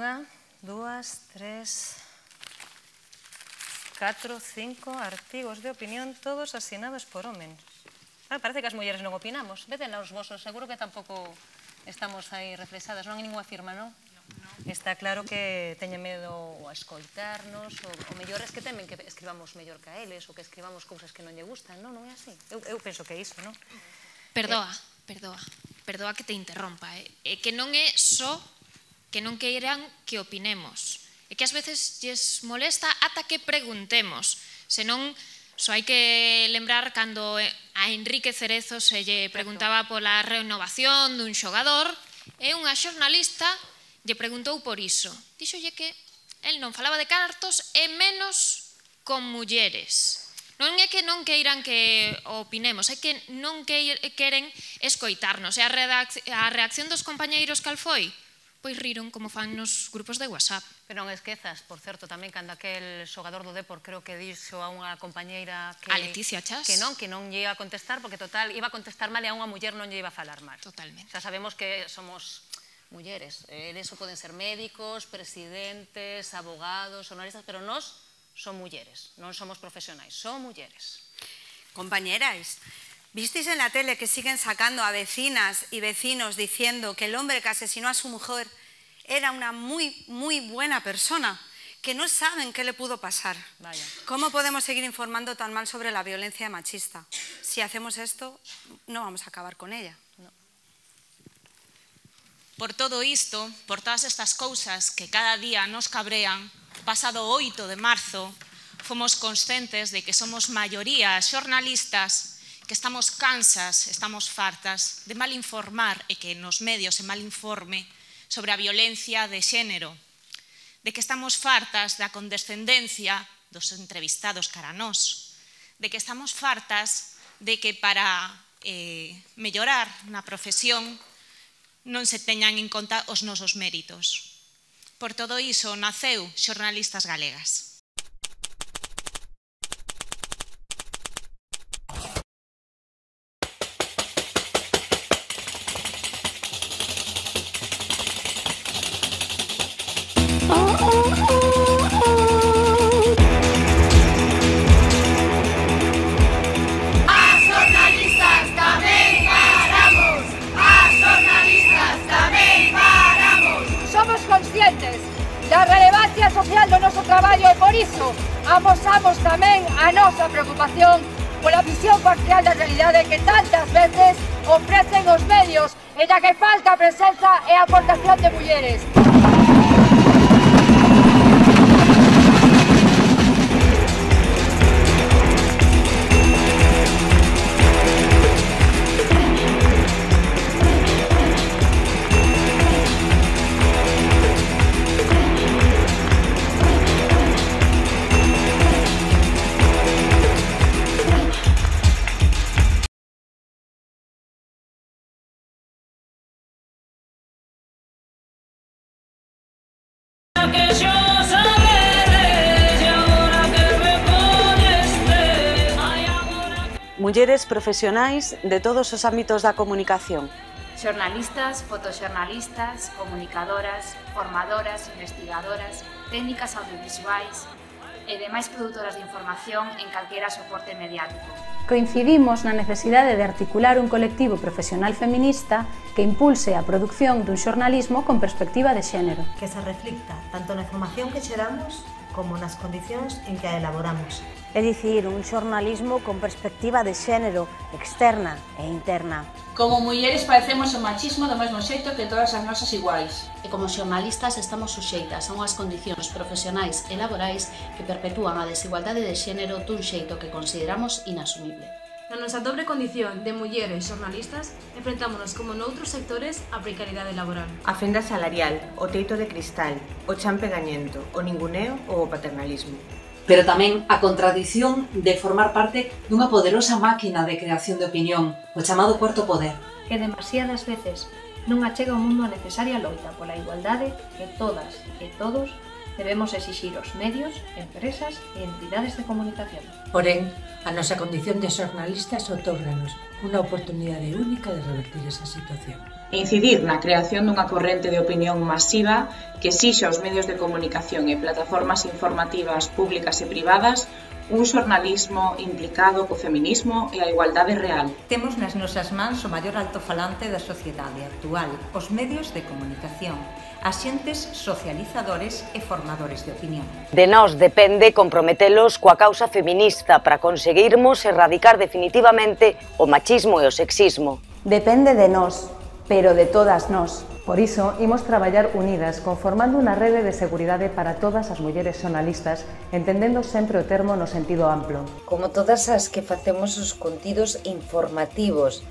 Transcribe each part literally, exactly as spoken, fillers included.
Unha, dúas, tres, catro, cinco artigos de opinión, todos asinados por homes. Ah, parece que as mulleres non opinamos. Veden os vosos, seguro que tampouco estamos aí reflexadas. Non hai ninguna firma, non? Está claro que teñen medo a escoitarnos, o mellor es que temen que escribamos mellor que a eles, ou que escribamos cousas que non lle gustan, non? Non é así? Eu penso que é iso, non? Perdoa, perdoa, perdoa que te interrompa. É que non é só que non queiran que opinemos. É que ás veces lles molesta ata que preguntemos. Senón, só hai que lembrar cando a Enrique Cerezo se lle preguntaba pola renovación dun xogador e unha xornalista lle preguntou por iso. Díxolle que el non falaba de cartos e menos con mulleres. Non é que non queiran que opinemos, é que non queren escoitarnos. E a reacción dos compañeiros cal foi? Pois riron como fan nos grupos de WhatsApp. Pero non esquezas, por certo, tamén cando aquel xogador do Depor creo que dixo a unha compañeira que... A Leticia Chas. Que non, que non lle iba a contestar, porque total, iba a contestar mal e a unha muller non lle iba a falar mal. Totalmente. Xa sabemos que somos mulleres, en eso poden ser médicos, presidentes, abogados, honoristas, pero nós son mulleres, non somos profesionais, son mulleres. Compañeras, ¿visteis en la tele que siguen sacando a vecinas y vecinos diciendo que el hombre que asesinó a su mujer era una muy, muy buena persona? Que no saben qué le pudo pasar. Vaya. ¿Cómo podemos seguir informando tan mal sobre la violencia machista? Si hacemos esto, no vamos a acabar con ella. No. Por todo isto, por todas estas cousas que cada día nos cabrean, pasado oito de marzo, fomos conscientes de que somos maioría xornalistas que estamos cansas, estamos fartas de mal informar e que nos medios se mal informe sobre a violencia de xénero, de que estamos fartas da condescendencia dos entrevistados cara a nós, de que estamos fartas de que para eh, mellorar na profesión non se teñan en conta os nosos méritos. Por todo iso naceu Xornalistas Galegas. Da relevancia social do noso traballo e por iso amosamos tamén a nosa preocupación pola visión parcial da realidade que tantas veces ofrecen os medios e da que falta a presenza e a aportación de mulleres. Mulleres profesionais de todos os ámbitos da comunicación. Xornalistas, fotoxornalistas, comunicadoras, formadoras, investigadoras, técnicas audiovisuais e demais produtoras de información en calquera soporte mediático. Coincidimos na necesidade de articular un colectivo profesional feminista que impulse a produción dun xornalismo con perspectiva de xénero. Que se reflicta tanto na información que xeramos como nas condicións en que a elaboramos. É dicir, un xornalismo con perspectiva de xénero, externa e interna. Como mulleres padecemos o machismo do mesmo xeito que todas as nosas iguais. E como xornalistas estamos suxeitas a unhas condicións profesionais e laborais que perpetúan a desigualdade de xénero dun xeito que consideramos inasumible. Na nosa dobre condición de mulleres xornalistas, enfrentámonos como noutros sectores á precariedade laboral. A fenda salarial, o teito de cristal, o chan pegañento, o ninguneo ou o paternalismo. Pero tamén a contradición de formar parte dunha poderosa máquina de creación de opinión, o chamado cuarto poder. Que demasiadas veces non achega ao mundo a necesaria loita pola igualdade que todas e todos debemos exixir aos medios, empresas e entidades de comunicación. Porén, a nosa condición de xornalistas otórganos unha oportunidade única de revertir esa situación. Incidir na creación dunha corrente de opinión masiva que exixa aos medios de comunicación e plataformas informativas públicas e privadas un xornalismo implicado co feminismo e a igualdade real. Temos nas nosas mans o maior altofalante da sociedade actual, os medios de comunicación, axentes socializadores e formadores de opinión. De nós depende comprometelos coa causa feminista para conseguirmos erradicar definitivamente o machismo e o sexismo. Depende de nós, pero de todas nós. Por iso, imos traballar unidas, conformando unha rede de seguridade para todas as mulleres xornalistas, entendendo sempre o termo no sentido amplo. Como todas as que facemos os contidos informativos,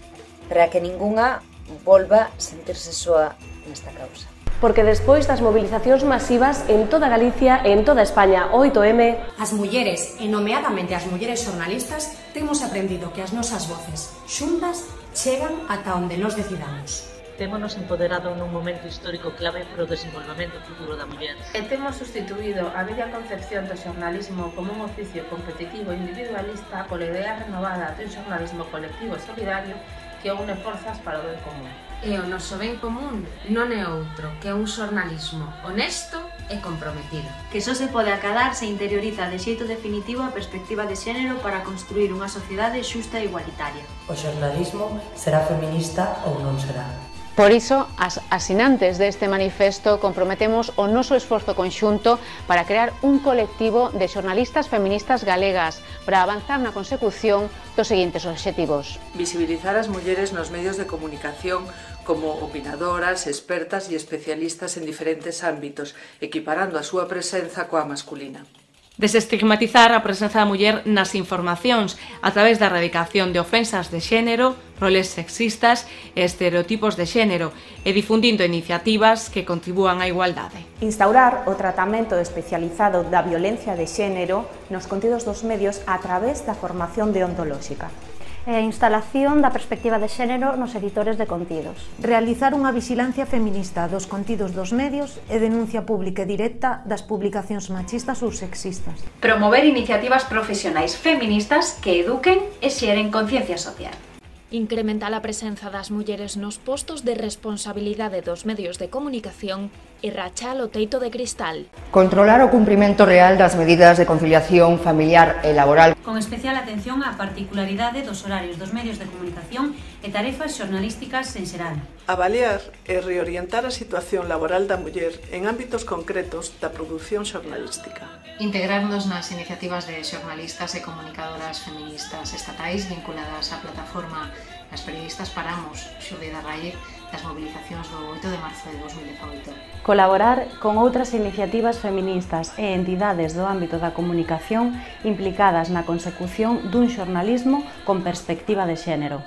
para que ningunha volva a sentirse soa nesta causa. Porque despois das movilizacións masivas en toda Galicia e en toda España, oito eme, as mulleres, e nomeadamente as mulleres xornalistas, temos aprendido que as nosas voces, xuntas, chegan ata onde nos decidamos. Témonos empoderado nun momento histórico clave para o desenvolvemento futuro da muller. E temos sustituído a bella concepción do xornalismo como un oficio competitivo e individualista pola idea renovada dun xornalismo colectivo e solidario que une forzas para o ben común. E o noso ben común non é outro que un xornalismo honesto e comprometido. Que só se pode acadar se interioriza de xeito definitivo a perspectiva de xénero para construir unha sociedade xusta e igualitaria. O xornalismo será feminista ou non será. Por iso, as asinantes deste manifesto comprometemos o noso esforzo conxunto para crear un colectivo de xornalistas feministas galegas para avanzar na consecución dos seguintes obxectivos. Visibilizar as mulleres nos medios de comunicación como opinadoras, expertas e especialistas en diferentes ámbitos, equiparando a súa presenza coa masculina. Desestigmatizar a presenza da muller nas informacións a través da erradicación de ofensas de xénero, roles sexistas e estereotipos de xénero e difundindo iniciativas que contribúan á igualdade. Instaurar o tratamento especializado da violencia de xénero nos contidos dos medios a través da formación deontolóxica. E a instalación da perspectiva de xénero nos editores de contidos. Realizar unha vixilancia feminista dos contidos dos medios e denuncia pública e directa das publicacións machistas ou sexistas. Promover iniciativas profesionais feministas que eduquen e xeren conciencia social. Incrementar a presenza das mulleres nos postos de responsabilidade dos medios de comunicación e rachar o teito de cristal. Controlar o cumprimento real das medidas de conciliación familiar e laboral. Con especial atención á particularidade dos horarios dos medios de comunicación e tarefas xornalísticas en xeral. Avaliar e reorientar a situación laboral da muller en ámbitos concretos da produción xornalística. Integrarnos nas iniciativas de xornalistas e comunicadoras feministas estatais vinculadas á plataforma As Periodistas Paramos, xurde da raíz das movilizacións do oito de marzo de dos mil dezaoito. Colaborar con outras iniciativas feministas e entidades do ámbito da comunicación implicadas na consecución dun xornalismo con perspectiva de xénero.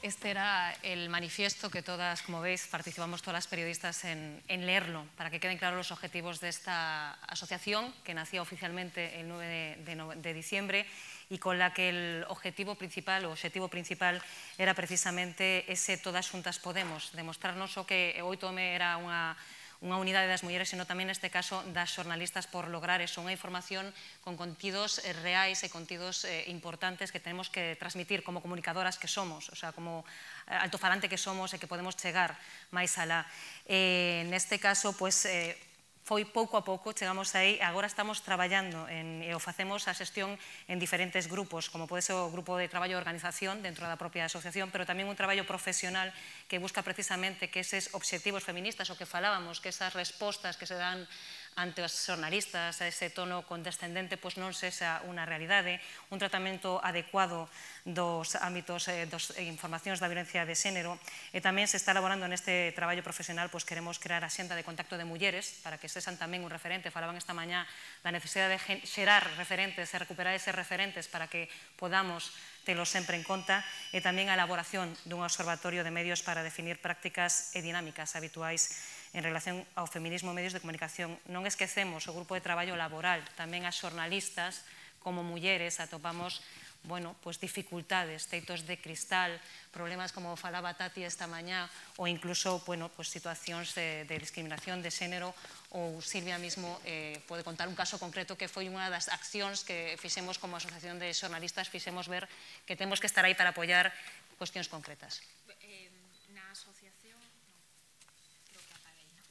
Este era el manifiesto que todas, como veis, participamos todas las periodistas en, en leerlo, para que queden claros los objetivos de esta asociación, que nació oficialmente el nueve de, de, de diciembre, y con la que el objetivo principal, o objetivo principal, era precisamente ese Todas Xuntas Podemos, demostrarnos o que oito eme era unha unha unidade das mulleres, sino tamén neste caso das xornalistas por lograr eso, unha información con contidos reais e contidos eh, importantes que tenemos que transmitir como comunicadoras que somos, o sea, como altofalante que somos e que podemos chegar máis alá. Eh, neste caso, pues, eh, foi pouco a pouco, chegamos aí, agora estamos traballando en, e o facemos a xestión en diferentes grupos, como pode ser o grupo de traballo de organización dentro da propia asociación, pero tamén un traballo profesional que busca precisamente que eses obxectivos feministas, o que falábamos, que esas respostas que se dan ante os xornalistas, a ese tono condescendente, pois non sexa unha realidade, un tratamento adecuado dos ámbitos eh, dos eh, informacións da violencia de xénero, e tamén se está elaborando neste traballo profesional, pois queremos crear a xenda de contacto de mulleres, para que sexan tamén un referente, falaban esta mañá da necesidade de xerar referentes e recuperar eses referentes para que podamos telos sempre en conta, e tamén a elaboración dun observatorio de medios para definir prácticas e dinámicas habituais en relación ao feminismo e medios de comunicación. Non esquecemos o grupo de traballo laboral, tamén as xornalistas como mulleres atopamos bueno, pues dificultades, teitos de cristal, problemas como falaba Tati esta mañá, ou incluso, bueno, pues situacións de, de discriminación de xénero, ou Silvia mismo eh, pode contar un caso concreto que foi unha das accións que fixemos como asociación de xornalistas, fixemos ver que temos que estar aí para apoiar cuestións concretas. Eh, na asociación... No, creo que apaguei, no?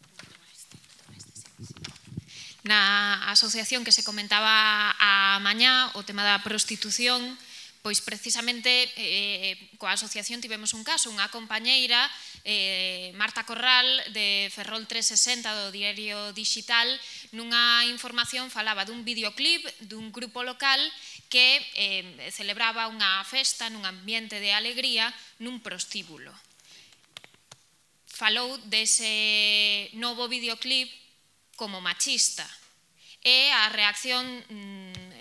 Na asociación que se comentaba a mañá, o tema da prostitución, pois precisamente eh, coa asociación tivemos un caso, unha compañeira, eh, Marta Corral, de Ferrol trescentos sesenta, do Diario Digital, nunha información falaba dun videoclip dun grupo local que eh, celebraba unha festa nun ambiente de alegría nun prostíbulo. Falou dese novo videoclip como machista. E a reacción,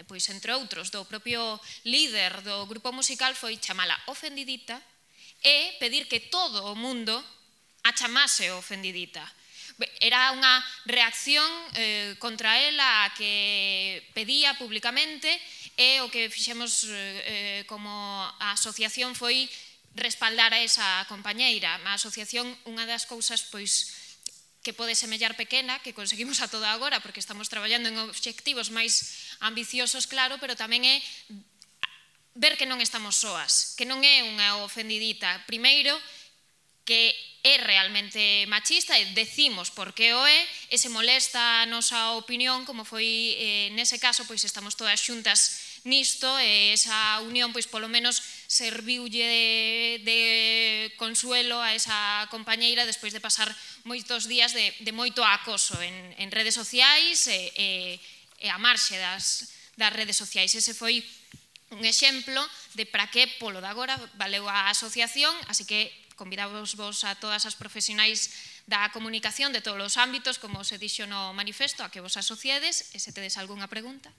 pois, entre outros, do propio líder do grupo musical foi chamala ofendidita e pedir que todo o mundo a chamase ofendidita. Era unha reacción eh, contra ela a que pedía públicamente e o que fixemos eh, como asociación foi respaldar a esa compañeira. A asociación, unha das cousas, pois, que pode semellar pequena, que conseguimos a toda agora, porque estamos traballando en obxectivos máis ambiciosos, claro, pero tamén é ver que non estamos soas, que non é unha ofendidita. Primeiro, que é realmente machista, e decimos por que o é, e se molesta a nosa opinión, como foi eh, nese caso, pois estamos todas xuntas nisto, e esa unión, pois polo menos, serviulle de, de consuelo a esa compañeira despois de pasar moitos días de, de moito acoso en, en redes sociais e, e, e a marxe das, das redes sociais. Ese foi un exemplo de para que polo de agora valeu a asociación, así que convidamos vos a todas as profesionais da comunicación de todos os ámbitos, como se dixo no manifesto, a que vos asociedes, e se tedes algunha pregunta.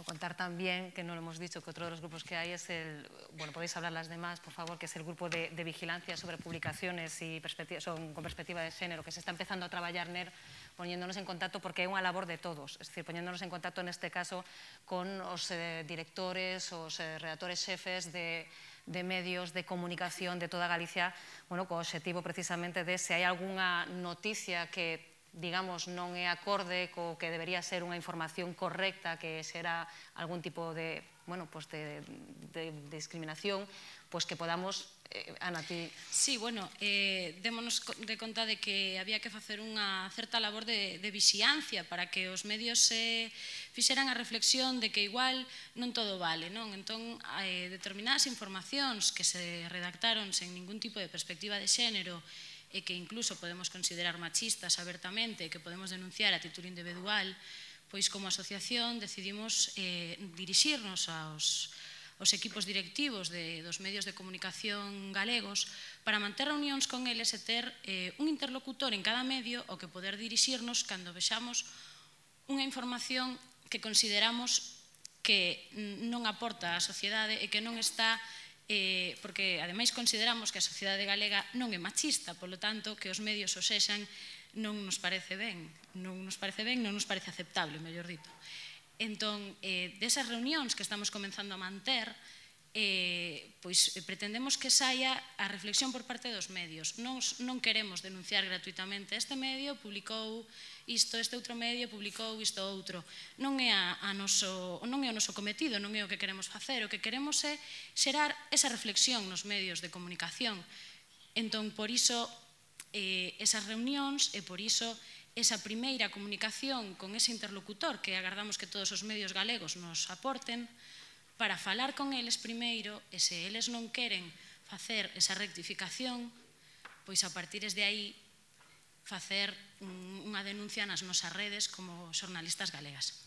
Contar también, que no lo hemos dicho, que otro de los grupos que hay es el, bueno, podéis hablar las demás, por favor, que es el grupo de, de vigilancia sobre publicaciones y perspectiva, son, con perspectiva de género, que se está empezando a traballar ner, poniéndonos en contacto, porque é unha labor de todos, es decir, poniéndonos en contacto en este caso con os eh, directores, os eh, redactores xefes de, de medios de comunicación de toda Galicia, bueno, co objetivo precisamente de se hai algunha noticia que digamos, non é acorde co que debería ser unha información correcta, que será algún tipo de, bueno, pues de, de, de discriminación, pues que podamos, eh, Ana, ti... Sí, bueno, eh, démonos de conta de que había que facer unha certa labor de, de vixiancia para que os medios se fixeran a reflexión de que igual non todo vale, non? Entón, eh, determinadas informacións que se redactaron sen ningún tipo de perspectiva de xénero e que incluso podemos considerar machistas abertamente, que podemos denunciar a título individual, pois como asociación decidimos eh, dirixirnos aos, aos equipos directivos de, dos medios de comunicación galegos para manter reunións con eles e ter eh, un interlocutor en cada medio ao que poder dirixirnos cando vexamos unha información que consideramos que non aporta á sociedade e que non está Eh, porque ademais consideramos que a sociedade galega non é machista, polo tanto que os medios o sexan non nos parece ben, non nos parece ben, non nos parece aceptable, mellor dito. Entón, eh, desas reunións que estamos comenzando a manter, eh, pois pretendemos que saia a reflexión por parte dos medios. Nos, non queremos denunciar gratuitamente este medio, publicou isto, este outro medio publicou isto outro. Non é, a, a noso, non é o noso cometido, non é o que queremos facer. O que queremos é xerar esa reflexión nos medios de comunicación. Entón, por iso, eh, esas reunións e por iso esa primeira comunicación con ese interlocutor que agardamos que todos os medios galegos nos aporten para falar con eles primeiro e se eles non queren facer esa rectificación, pois a partir de aí facer unha denuncia nas nosas redes como xornalistas galegas.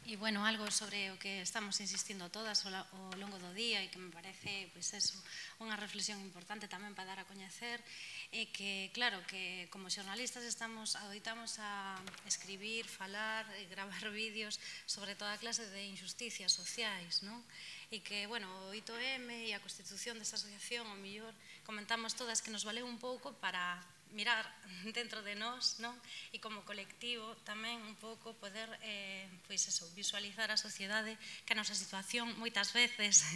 E, bueno, algo sobre o que estamos insistindo todas ao longo do día e que me parece, pois, eso, unha reflexión importante tamén para dar a coñecer é que, claro, que como xornalistas estamos, adoitamos a escribir, falar e gravar vídeos sobre toda clase de injusticias sociais, non? E que, bueno, o oito eme e a constitución desta asociación, ao mellor, comentamos todas que nos valeu un pouco para mirar dentro de nós, non? E como colectivo tamén un pouco poder eh, pois eso, visualizar a sociedade, que a nosa situación moitas veces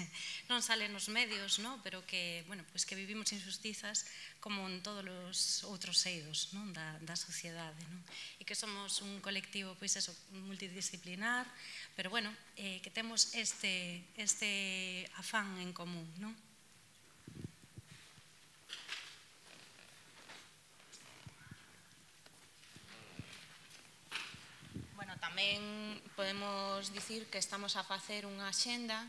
non sale nos medios, non? Pero que, bueno, pois que vivimos injustizas como en todos os outros eidos, non? Da, da sociedade, non? E que somos un colectivo pois eso, multidisciplinar, pero bueno, eh, que temos este, este afán en común, non? Tamén podemos dicir que estamos a facer unha axenda,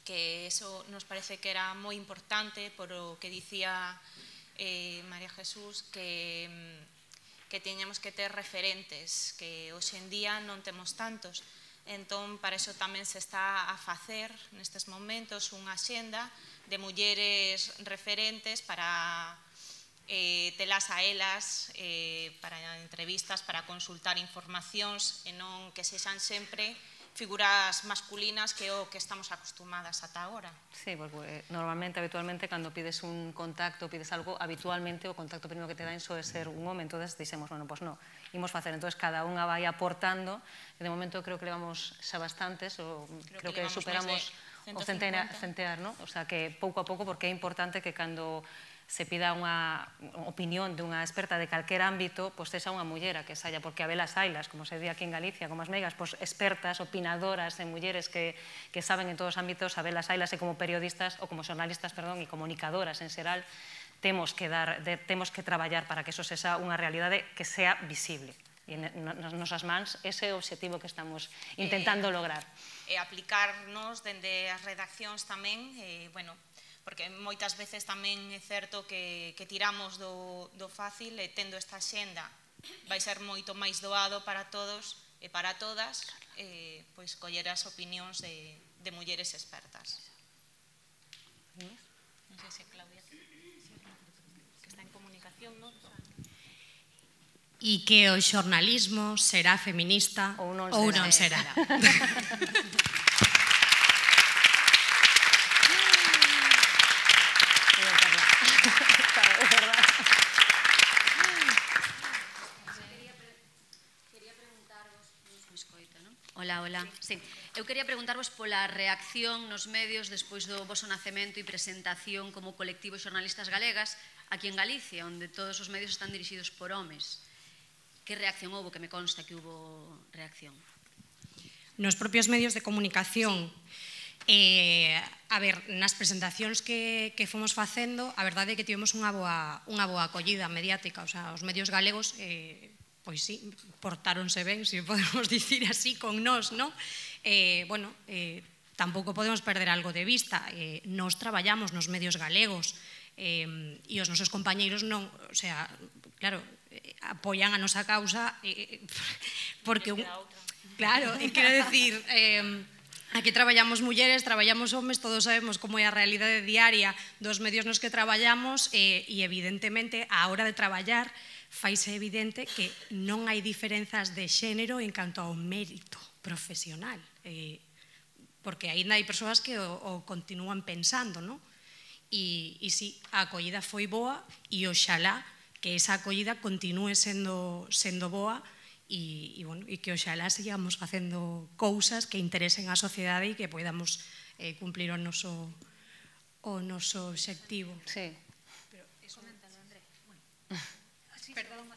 que eso nos parece que era moi importante por o que dicía eh, María Jesús, que, que teñamos que ter referentes, que hoxe en día non temos tantos. Entón, para iso tamén se está a facer nestes momentos unha axenda de mulleres referentes para Eh, telas a elas eh, para entrevistas, para consultar informacións e non que sexan sempre figuras masculinas que é o que estamos acostumadas ata agora. Sí, porque normalmente, habitualmente, cando pides un contacto, pides algo, habitualmente o contacto primeiro que te dan soe ser un home, entonces dixemos, bueno, pois non, imos facer, entonces cada unha vai aportando, e de momento creo que levamos xa bastantes, o creo, creo que, que superamos o centear, non? O sea, que pouco a pouco, porque é importante que cando se pida unha opinión dunha experta de calquer ámbito, pois sexa unha mullera que saia, porque habelas ailas, como se di aquí en Galicia, como as meigas, pois expertas, opinadoras en mulleres que, que saben en todos os ámbitos, habelas ailas e como periodistas, ou como xornalistas, perdón, e comunicadoras en xeral, temos que, dar, de, temos que traballar para que eso sexa unha realidade que sea visible. E nas nosas mans, ese é o objetivo que estamos intentando lograr. E aplicarnos dende as redaccións tamén, eh, bueno, porque moitas veces tamén é certo que, que tiramos do, do fácil e tendo esta xenda vai ser moito máis doado para todos e para todas eh, pois coller as opinións de, de mulleres expertas. Non sei se Claudia que está en comunicación, non? E que o xornalismo será feminista ou non será. Ou non será. Ola, ola. Sí. Eu quería preguntarvos pola reacción nos medios despois do voso nacemento e presentación como colectivo xornalistas galegas aquí en Galicia, onde todos os medios están dirixidos por homes. Que reacción houve? Que me consta que hubo reacción. Nos propios medios de comunicación, eh, a ver, nas presentacións que, que fomos facendo, a verdade é que tivemos unha boa, unha boa acollida mediática, o sea, os medios galegos eh, pois sí, portáronse ben, se podemos dicir así, con nós, non? Eh, bueno, eh, tampouco podemos perder algo de vista. Eh, nos traballamos nos medios galegos eh, e os nosos compañeiros non, o sea, claro, eh, apoian a nosa causa eh, porque... Un, claro, eh, quero decir... Eh, Aquí traballamos mulleres, traballamos homes, todos sabemos como é a realidade diaria dos medios nos que traballamos e, e evidentemente, a hora de traballar, faise evidente que non hai diferenzas de xénero en canto ao mérito profesional. Eh, porque aínda hai persoas que o, o continúan pensando, non? E, e si, a acollida foi boa e oxalá que esa acollida continúe sendo, sendo boa e, e, bueno, e que oxalá sigamos facendo cousas que interesen á sociedade e que podamos eh, cumplir o noso, o noso obxectivo. Sí. Pero eso... André. Bueno. Perdón.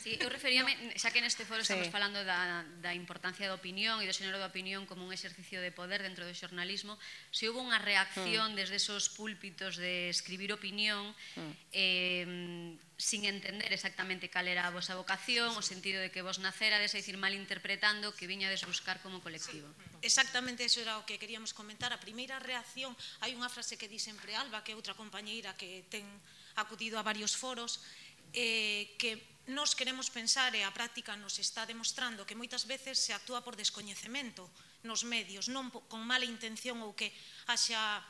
Sí, eu referíame, xa que neste foro estamos sí. falando da, da importancia da opinión e do xénero da opinión como un exercicio de poder dentro do xornalismo, se houve unha reacción mm. desde esos púlpitos de escribir opinión mm. eh, sin entender exactamente cal era a vosa vocación, o sentido de que vos nacerades, é dicir, malinterpretando que viñades buscar como colectivo. Sí. Exactamente, eso era o que queríamos comentar. A primeira reacción, hai unha frase que di sempre Alba, que é outra compañeira que ten acudido a varios foros, eh, que nos queremos pensar e a práctica nos está demostrando que moitas veces se actúa por descoñecemento nos medios, non con mala intención ou que haxa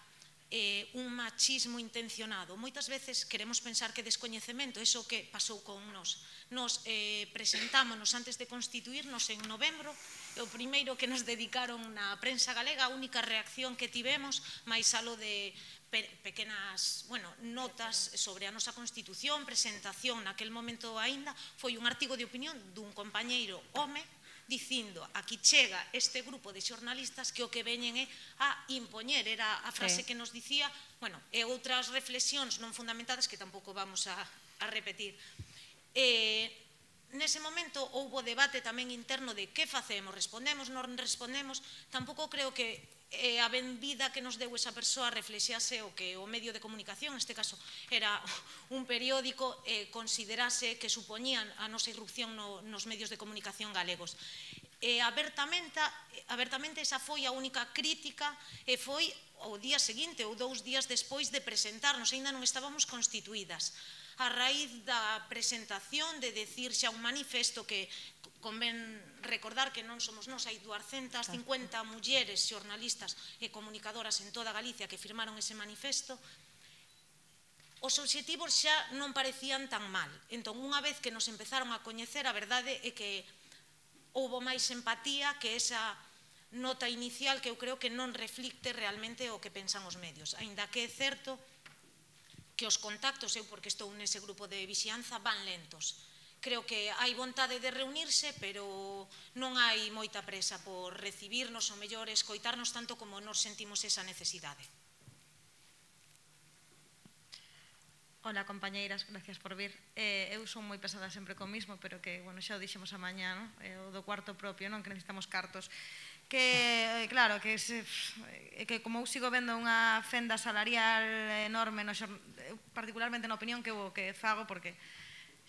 eh, un machismo intencionado. Moitas veces queremos pensar que descoñecemento, iso que pasou con nos. Nos eh, presentámonos antes de constituirnos en novembro, e o primeiro que nos dedicaron na prensa galega, a única reacción que tivemos, máis alo de pe pequenas bueno, notas sobre a nosa Constitución, presentación naquel momento aínda, foi un artigo de opinión dun compañeiro home, dicindo, aquí chega este grupo de xornalistas que o que veñen é a impoñer, era a frase que nos dicía, bueno, e outras reflexións non fundamentadas que tampouco vamos a, a repetir. Eh, nese momento houbo debate tamén interno de que facemos, respondemos, non respondemos, tampouco creo que eh, a benvida que nos deu esa persoa reflexase o que o medio de comunicación, neste caso era un periódico, eh, considerase que supoñían a nosa irrupción no, nos medios de comunicación galegos. Eh, abertamente, abertamente esa foi a única crítica e foi o día seguinte ou dous días despois de presentarnos, ainda non estábamos constituídas. A raíz da presentación de decir xa un manifesto que convén recordar que non somos nós, hai duascentas cincuenta mulleres xornalistas e comunicadoras en toda Galicia que firmaron ese manifesto, os obxectivos xa non parecían tan mal. Entón, unha vez que nos empezaron a coñecer, a verdade é que houbo máis empatía que esa nota inicial que eu creo que non reflicte realmente o que pensan os medios. Aínda que é certo que os contactos, eu porque estou nese grupo de vixianza, van lentos. Creo que hai vontade de reunirse, pero non hai moita presa por recibirnos, ou mellor escoitarnos tanto como nos sentimos esa necesidade. Hola, compañeiras, gracias por vir. Eh, eu son moi pesada sempre co mismo, pero que, bueno, xa o dixemos a mañá, non? Eh, o do cuarto propio, non? Que necesitamos cartos. Que, claro, que, se, que como eu sigo vendo unha fenda salarial enorme, no, particularmente na opinión que, que fago, porque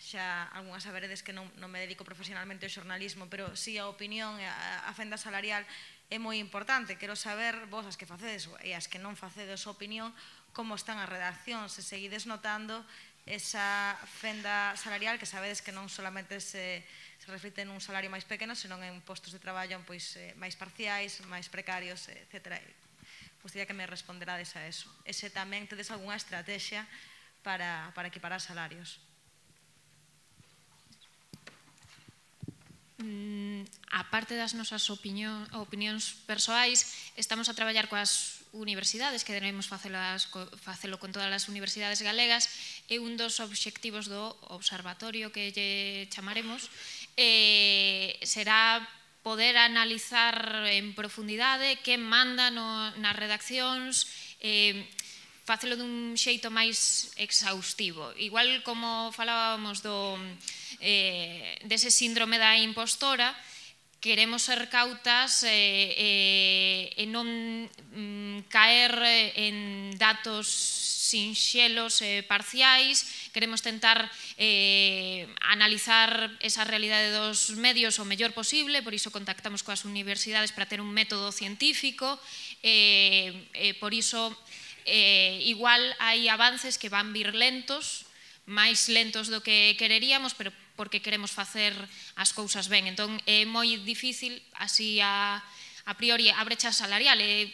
xa algunhas saberedes que non, non me dedico profesionalmente ao xornalismo, pero sí a opinión, a, a fenda salarial é moi importante. Quero saber, vos as que facedes e as que non facedes a opinión, como están as redaccións, se seguides notando esa fenda salarial que sabedes que non solamente se, se reflite nun salario máis pequeno, senón en postos de traballo pois, eh, máis parciais, máis precarios, etcétera. Gostaría que me responderades a eso. E se tamén tedes algunha estrategia para, para equiparar salarios. Mm, a parte das nosas opinión, opinións persoais, estamos a traballar coas universidades, que debemos facelas, facelo con todas as universidades galegas, e un dos obxectivos do observatorio que lle chamaremos eh, será poder analizar en profundidade que manda no, nas redaccións, eh, facelo dun xeito máis exhaustivo. Igual como falábamos do, eh, dese síndrome da impostora, queremos ser cautas eh, eh, e non mm, caer en datos sinxelos e eh, parciais, queremos tentar eh, analizar esa realidade dos medios o mellor posible, por iso contactamos coas universidades para ter un método científico, eh, eh, por iso eh, igual hai avances que van vir lentos, máis lentos do que quereríamos, pero porque queremos facer as cousas ben. Entón, é moi difícil, así a, a priori, a brecha salarial é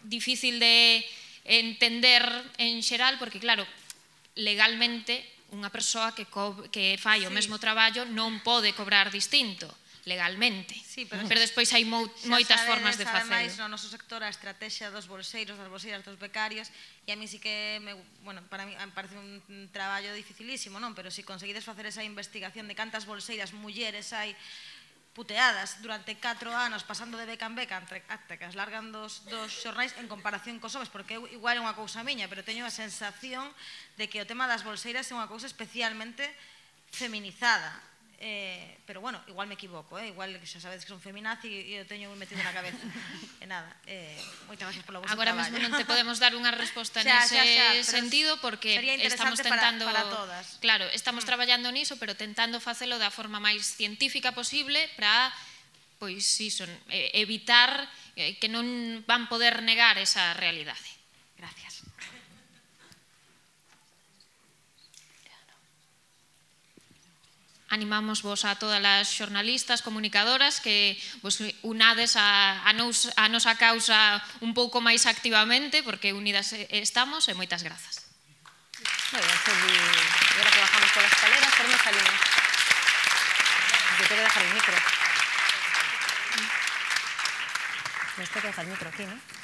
difícil de entender en xeral, porque, claro, legalmente, unha persoa que, que fai o mesmo traballo non pode cobrar distinto, legalmente. Sí, pero, pero despois hai mo, moitas sabedes, formas de facelo. Ademais, no noso sector, a estrategia dos bolseiros, das bolseiras dos becarios, e a mí sí que, me, bueno, para mí me parece un traballo dificilísimo, non? Pero se si conseguides facer esa investigación de cantas bolseiras mulleres hai puteadas durante catro anos pasando de beca en beca até que as largan dos, dos xornais en comparación cos homes, porque igual é unha cousa miña, pero teño a sensación de que o tema das bolseiras é unha cousa especialmente feminizada. Eh, pero bueno, igual me equivoco, eh? Igual xa sabedes que son feminazi e eu teño metido na cabeza. E nada, eh, moitas gracias polo vosso traballo. Agora mesmo non te podemos dar unha resposta nese sentido porque estamos tentando para, para todas. Claro, estamos mm. traballando niso, pero tentando facelo da forma máis científica posible para pois iso, evitar que non van poder negar esa realidade. Gracias. A animamos vos a todas as xornalistas, comunicadoras que vos unades a, a, nos, a nosa causa un pouco máis activamente, porque unidas estamos, e moitas grazas. Moi ben, Sergi, agora que bajamos pola escalera, por onde salimos? Te tengo que dejar el micro. Me tengo que dejar el micro aquí, ¿no?